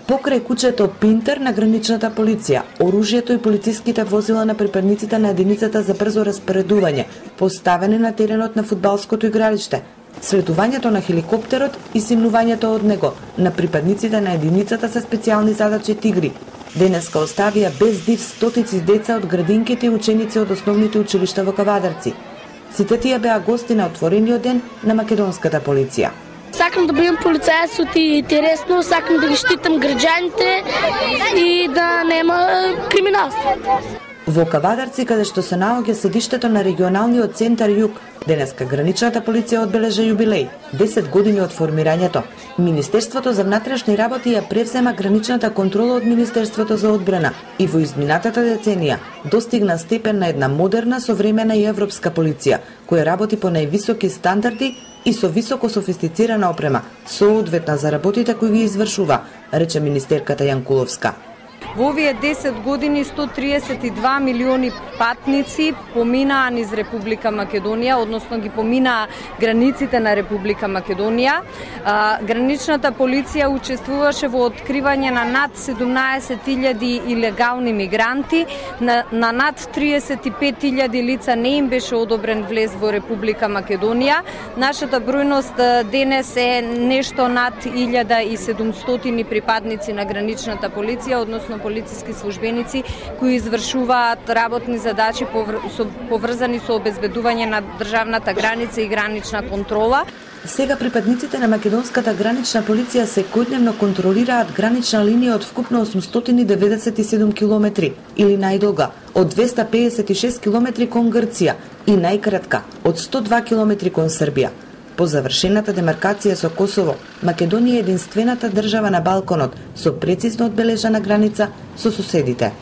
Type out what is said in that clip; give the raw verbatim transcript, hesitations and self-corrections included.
Покрај куќето Пинтер на граничната полиција, оружјето и полициските возила на припадниците на единицата за брзо распоредување, поставени на теренот на фудбалското игралиште, слетувањето на хеликоптерот и симнувањето од него на припадниците на единицата со специјални задачи Тигри, денеска оставија без див стотици деца од градинките и ученици од основните училишта во Кавадарци. Сите тие беа гости на отворениот ден на македонската полиција. Сакам да бидам полицајец и интересно, сакам да ги штитам граѓаните и да нема криминалство. Во Кавадарци, каде што се наоѓа седиштето на регионалниот центар Југ, денеска граничната полиција одбележа јубилеј, десет години од формирањето. Министерството за внатрешни работи ја превзема граничната контрола од Министерството за одбрана и во изминатата деценија достигна степен на една модерна, современа и европска полиција, која работи по највисоки стандарди и со високо софистицирана опрема, соодветна за работите кои ги извршува, рече министерката Јанкуловска. Во овие десет години сто триесет и два милиони патници поминаа низ Република Македонија, односно ги поминаа границите на Република Македонија. Граничната полиција учествуваше во откривање на над седумнаесет илјади илегални мигранти, на, на над триесет и пет илјади лица не им беше одобрен влез во Република Македонија. Нашата бројност денес е нешто над илјада и седумстотини припадници на граничната полиција, односно полициски службеници кои извршуваат работни задачи поврзани со обезбедување на државната граница и гранична контрола. Сега припадниците на македонската гранична полиција секојдневно контролираат гранична линија од вкупно осумстотини деветдесет и седум километри или најдолга од двеста пеесет и шест километри кон Грција и најкратка од сто два километри кон Србија. По завршената демаркација со Косово, Македонија е единствената држава на Балканот со прецизно одбележана граница со соседите.